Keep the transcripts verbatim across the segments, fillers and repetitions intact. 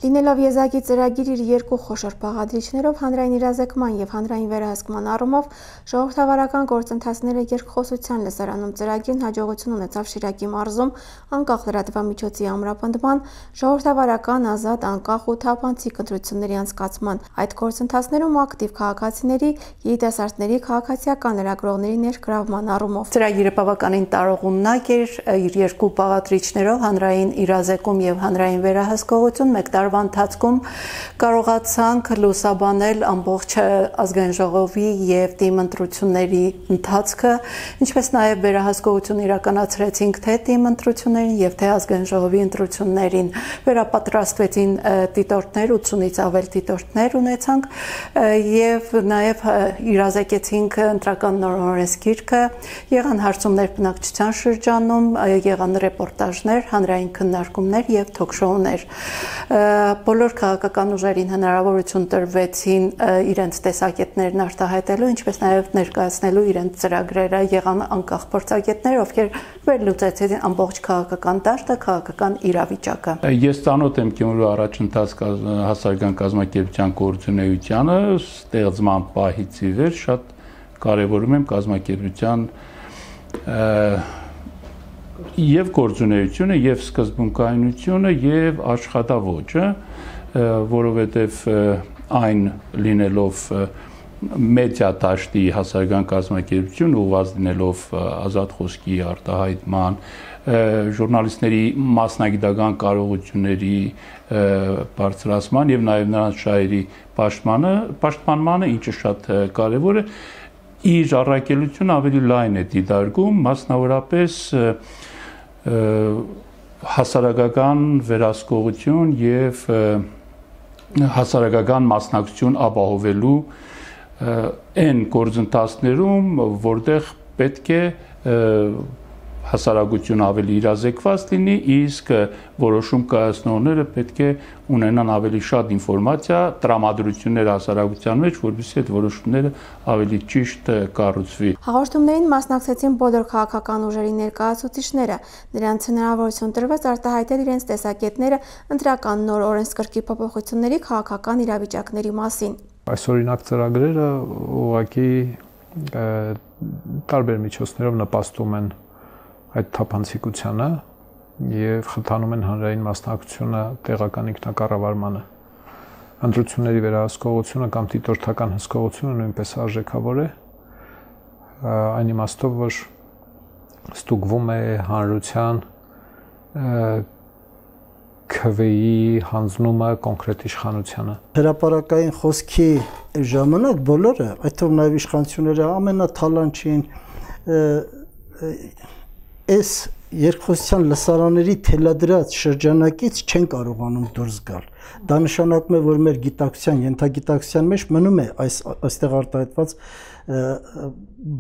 Լինելով եզակի ծրագիր իր երկու խոշոր բաղադրիչներով հանրային իրազեկման և հանրային վերահսկման առումով ժողովրդավարական գործընթացները երկխոսության լսարանում ծրագիրն հաջողություն ունեցավ Շիրակի մարզում անկախ լրատվամիջոցի ամրապնդման, ժողովրդավարական, ազատ, անկախ ու թափանցիկ ընտրությունների անցկացման, այդ գործընթացներում ակտիվ քաղաքացիների, երիտասարդների, քաղաքացիական լրագրողների ներգրավման առումով։ Ծրագիրը բավականին տարողունակ էր, իր երկու բաղադրիչներով հանրային իրազեկում և հանրային վերահսկողություն մեկ տարվա ընթացքում կարողացանք լուսաբանել ամբողջ ազգային ժողովի և թիմ ընտրությունների ընթացքը, ինչպես նաև վերահսկողություն իրականացրեցինք թե թիմ ընտրություններին և թե ազգային ժողովի ընտրություններին, վերապատրաստվեցին դիտորդներ, ութսունից ավել դիտորդներ ունեցանք և նաև իրազեկեցինք ընտրական նոր օրենսգիրքը, եղան հարցումներ բնակչության շրջանում, եղան ռեպորտաժներ, հանրային քննարկումներ և թոքշոուներ։ Բոլոր քաղաքական ուժերին հնարավորություն տրվեցին իրենց տեսակետներն արտահայտելու, ինչպես նաև ներկայացնելու իրենց ծրագրերը, եղան անկախ փորձագետներ, ովքեր վերլուծեցին ամբողջ քաղաքական դաշտը, քաղաքական իրավիճակը։ Ես ծանոթ եմ Գյումրու առաջընթաց հասարակական կազմակերպության գործունեությանը, ստեղծման պահից ի վեր շատ կարևորում եմ կազմակերպության և գործունեությունը, և սկզբունքայնությունը, և աշխատավոճը, որովհետև այն լինելով մեդիա դաշտի հասարակական կազմակերպություն, ուղղված լինելով ազատ խոսքի արտահայտման, ժուրնալիստների մասնագիտական կարողությունների բարձրացման և նաև նրանց շահերի պաշտպանմանը, ինչը շատ կարևոր է, իր առաքելությունը ավելի լայն է դիտարկում, մասնավորապես հասարակական վերահսկողություն և հասարակական մասնակցություն ապահովելու այն գործընթացներում, որտեղ պետք է հասարակությունը ավելի իրազեկված լինի, իսկ որոշում կայացնողները պետք է ունենան ավելի շատ ինֆորմացիա, տրամադրություններ հասարակության մեջ, որպեսզի այդ որոշումները ավելի ճիշտ կառուցվի։ Հաղորդումներին մասնակցեցին բոլոր քաղաքական ուժերի ներկայացուցիչները, նրանց հնարավորություն տրվեց արտահայտել իրենց տեսակետները ընտրական նոր օրենսգրքի փոփոխությունների քաղաքական իրավիճակների մասին։ Այսօրինակ ծրագրերը ուղղակի տարբեր միջոցներով նպաստում են այդ թափանցիկությանը և խթանում են հանրային մասնակցությունը տեղական ինքնակառավարմանը։ Ընտրությունների վերահսկողությունը կամ դիտորդական հսկողությունը նույնպես արժեքավոր է, այն իմաստով, որ ստուգվում է հանրության քվեի հանձնումը կոնկրետ իշխանությանը։ Հրապարակային խոսքի ժամանակ բոլորը, այդ թվում նաև իշխանությունները ամենաթալանչին այս երկխոսության լսարանների թելադրած շրջանակից չեն կարողանում դուրս գալ։ Դա նշանակում է, որ մեր գիտակցության, ենթագիտակցության մեջ մնում է այս այստեղ արտահայտված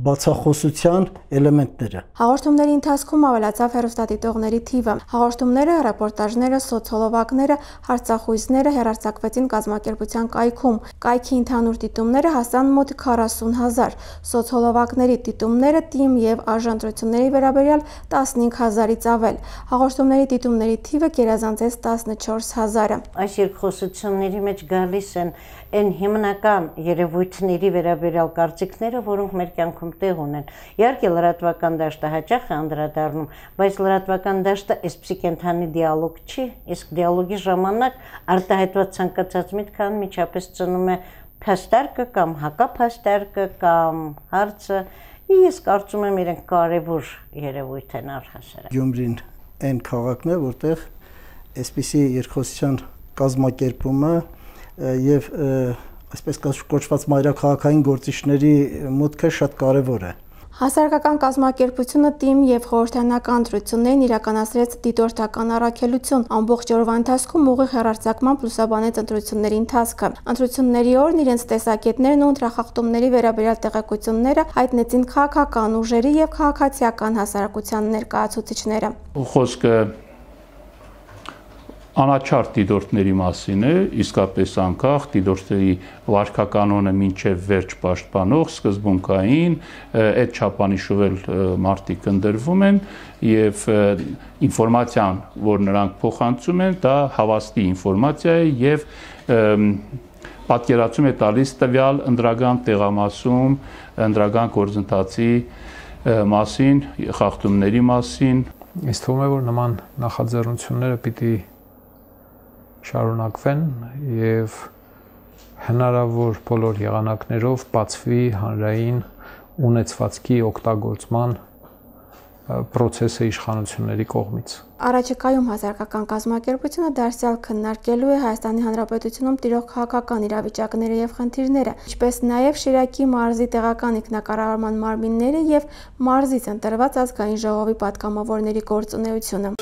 բացախոսության էլեմենտները։ Հաղորդումների ընթացքում ավելացավ հեռուստադիտողների թիվը։ Հաղորդումները, ռեպորտաժները, սոցհոլովակները, հարցախույզները հեռարձակվեցին կազմակերպության կայքում։ Կայքի ընդհանուր դիտումները հասան մոտ քառասուն հազար, սոցհոլովակների դիտումները թիմ և արժանտրությունների վերաբերյալ տասնհինգ հազարից ավել։ Հաղորդումների դիտումների թիվը գերազանցեց տասնչորս հազարը։ Այս երկխոսությունների մեջ գալիս են այն հիմնական երևույթների վերաբերյալ կարծիքները, որոնք մեր կյանքում տեղ ունեն։ Իհարկե լրատվական դաշտը հաճախ է անդրադառնում, բայց լրատվական դաշտը այսպիսի կենթանի դիալոգ չի, իսկ դիալոգի ժամանակ արտահայտված ցանկացած միտքը անմիջապես ծնում է փաստարկը կամ հակափաստարկը կամ հարցը, ես կարծում եմ իրենք կարևոր երևույթ են առհասարակ։ Գյումրին այն քաղաքն է, որտեղ այսպիսի երկխոսության կազմակերպումը և այսպես կոչված մայրաքաղաքային գործիչների մուտքը շատ կարևոր է։ Հասարակական կազմակերպությունը թիմ և խորհրդարանական ընտրություններին իրականացրեց դիտորդական առաքելություն, ամբողջ օրվա ընթացքում ուղիղ հեռարձակմամբ լուսաբանեց ընտրությունների ընթացքը։ Ընտրությունների օրն իրենց տեսակետներն ու ընտրախախտումների վերաբերյալ տեղեկությունները հայտնեցին քաղաքական ուժերի և քաղաքացիական հասարակության ներկայացուցիչները։ Խոսքը անաչառ դիտորդների մասին է, իսկապես անկախ դիտորդների վարքականոնը մինչև վերջ պաշտպանող սկզբունքային այդ չափանիշով էլ մարդիկ ընտրվում են եւ ինֆորմացիան, որ նրանք փոխանցում են, դա հավաստի ինֆորմացիա է եւ պատկերացում է տալիս տվյալ ընդրական տեղամասում, ընդրական գործընթացի մասին, խախտումների մասին։ Ինձ թվում է, որ նման նախաձեռնությունները պիտի շարունակվեն եւ հնարավոր բոլոր եղանակներով բացվի հանրային ունեցվածքի օգտագործման պրոցեսը իշխանությունների կողմից։ Առաջիկայում հասարակական կազմակերպությունը դարձյալ քննարկելու է Հայաստանի Հանրապետությունում տիրող քաղաքական իրավիճակները եւ խնդիրները, ինչպես նաեւ Շիրակի մարզի տեղական ինքնակառավարման մարմինները եւ մարզից ընտրված ազգային ժողովի պատգամավորների գործունեությունը։